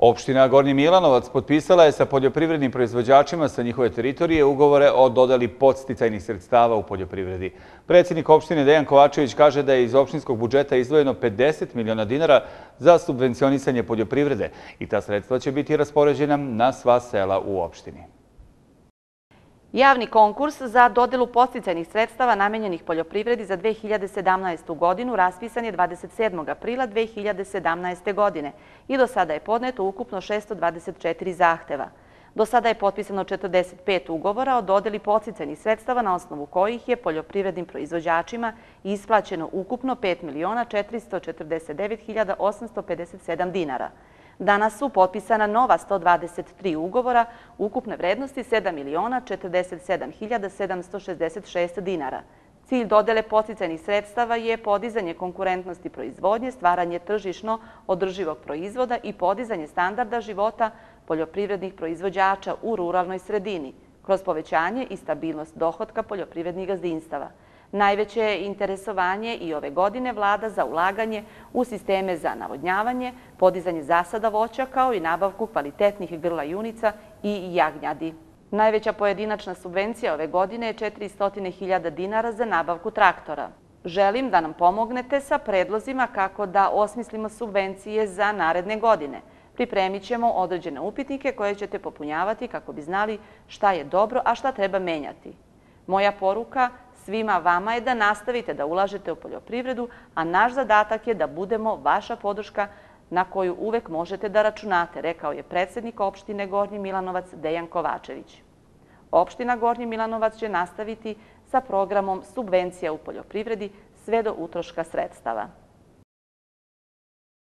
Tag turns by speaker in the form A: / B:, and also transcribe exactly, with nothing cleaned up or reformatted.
A: Opština Gornji Milanovac potpisala je sa poljoprivrednim proizvođačima sa njihove teritorije ugovore o dodeli podsticajnih sredstava u poljoprivredi. Predsjednik opštine Dejan Kovačević kaže da je iz opštinskog budžeta izdvojeno pedeset miliona dinara za subvencionisanje poljoprivrede i ta sredstva će biti raspoređena na sva sela u opštini.
B: Javni konkurs za dodelu podsticajnih sredstava namenjenih poljoprivredi za dve hiljade sedamnaestu. godinu raspisan je dvadeset sedmog aprila dve hiljade sedamnaeste. godine i do sada je podneto ukupno šesto dvadeset četiri zahteva. Do sada je potpisano četrdeset pet ugovora o dodeli podsticajnih sredstava na osnovu kojih je poljoprivrednim proizvođačima isplaćeno ukupno pet miliona četiristo četrdeset devet hiljada osamsto pedeset sedam dinara. Danas su potpisana nova sto dvadeset tri ugovora ukupne vrednosti sedam miliona četrdeset sedam hiljada sedamsto šezdeset šest dinara. Cilj dodele podsticajnih sredstava je podizanje konkurentnosti proizvodnje, stvaranje tržišno održivog proizvoda i podizanje standarda života poljoprivrednih proizvođača u ruralnoj sredini, kroz povećanje i stabilnost dohotka poljoprivrednih gazdinstava. Najveće je interesovanje i ove godine vlada za ulaganje u sisteme za navodnjavanje, podizanje zasada voća kao i nabavku kvalitetnih grla junica i jagnjadi. Najveća pojedinačna subvencija ove godine je četiristo hiljada dinara za nabavku traktora. Želim da nam pomognete sa predlozima kako da osmislimo subvencije za naredne godine. Pripremit ćemo određene upitnike koje ćete popunjavati kako bi znali šta je dobro, a šta treba menjati. Moja poruka svima vama je da nastavite da ulažete u poljoprivredu, a naš zadatak je da budemo vaša podrška na koju uvek možete da računate, rekao je predsjednik opštine Gornji Milanovac Dejan Kovačević. Opština Gornji Milanovac će nastaviti sa programom subvencija u poljoprivredi sve do utroška sredstava.